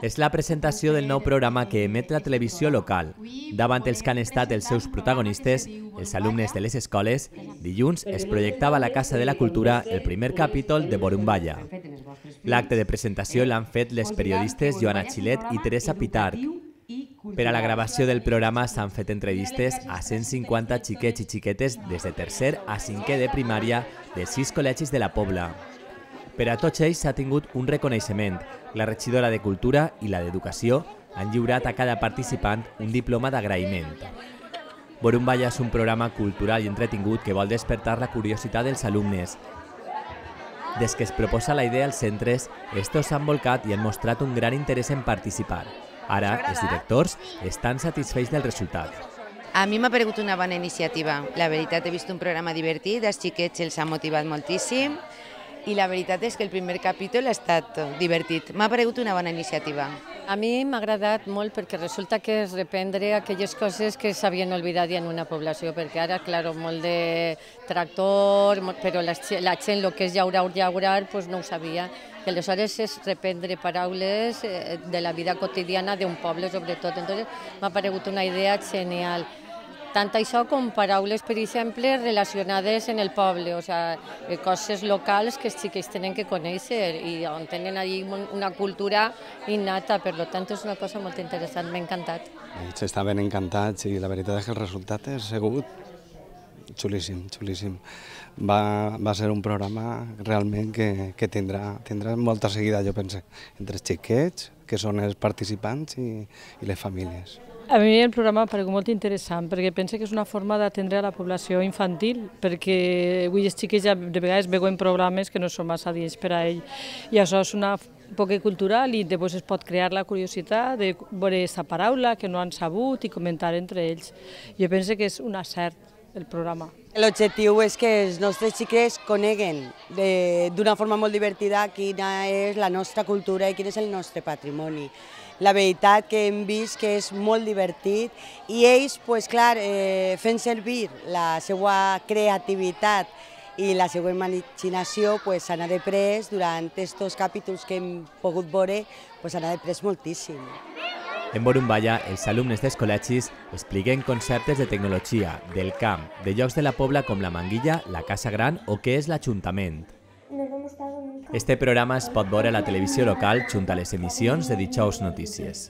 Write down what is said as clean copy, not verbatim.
És la presentació del nou programa que emet la televisió local. Davant els que han estat els seus protagonistes, els alumnes de les escoles, dilluns es projectava a la Casa de la Cultura el primer capítol de Borumballa. L'acte de presentació l'han fet les periodistes Joana Xilet i Teresa Pitarch. Per a la gravació del programa s'han fet entrevistes a 150 xiquets i xiquetes des de tercer a cinquè de primària dels 6 col·legis de la Pobla. Per a tots ells s'ha tingut un reconeixement. La regidora de Cultura i la d'Educació han lliurat a cada participant un diploma d'agraïment. Borumballa és un programa cultural i entretingut que vol despertar la curiositat dels alumnes. Des que es proposa la idea als centres, estos s'han volcat i han mostrat un gran interès en participar. Ara, els directors estan satisfets del resultat. A mi m'ha paregut una bona iniciativa. La veritat, he vist un programa divertit, els xiquets els ha motivat moltíssim i la veritat és que el primer capítol ha estat divertit. M'ha paregut una bona iniciativa. A mi m'ha agradat molt perquè resulta que és reprendre aquelles coses que s'havien oblidat en una població, perquè ara, clar, molt de tractor, però la gent el que és llaurar, doncs no ho sabia. I aleshores és reprendre paraules de la vida quotidiana d'un poble, sobretot. Entonces m'ha paregut una idea genial. Tant això com paraules, per exemple, relacionades en el poble, o sigui, coses locals que els xiquets tenen que conèixer i on tenen allí una cultura innata, per tant és una cosa molt interessant, m'ha encantat. Ells estaven encantats i la veritat és que el resultat ha sigut xulíssim, xulíssim. Va ser un programa realment que tindrà molta seguida, jo penso, entre els xiquets, que són els participants, i les famílies. A mi el programa m'ha paregut molt interessant perquè penso que és una forma d'atendre a la població infantil, perquè avui els xiquets ja de vegades veuen programes que no són massa adients per a ells i això és una poc cultural i després es pot crear la curiositat de veure aquesta paraula que no han sabut i comentar entre ells. Jo penso que és un acert el programa. L'objectiu és que els nostres xiquets coneguen d'una forma molt divertida quina és la nostra cultura i quin és el nostre patrimoni. La veritat que hem vist que és molt divertit i ells, clar, fent servir la seva creativitat i la seva imaginació s'han après durant aquests capítols que hem pogut veure, s'han après moltíssim. En Borumballa, els alumnes dels col·legis expliquen conceptes de tecnologia, del camp, de llocs de la Pobla com la Manguilla, la Casa Gran o què és l'Ajuntament. Este programa es pot veure a la televisió local junt a les emissions de Dijous Notícies.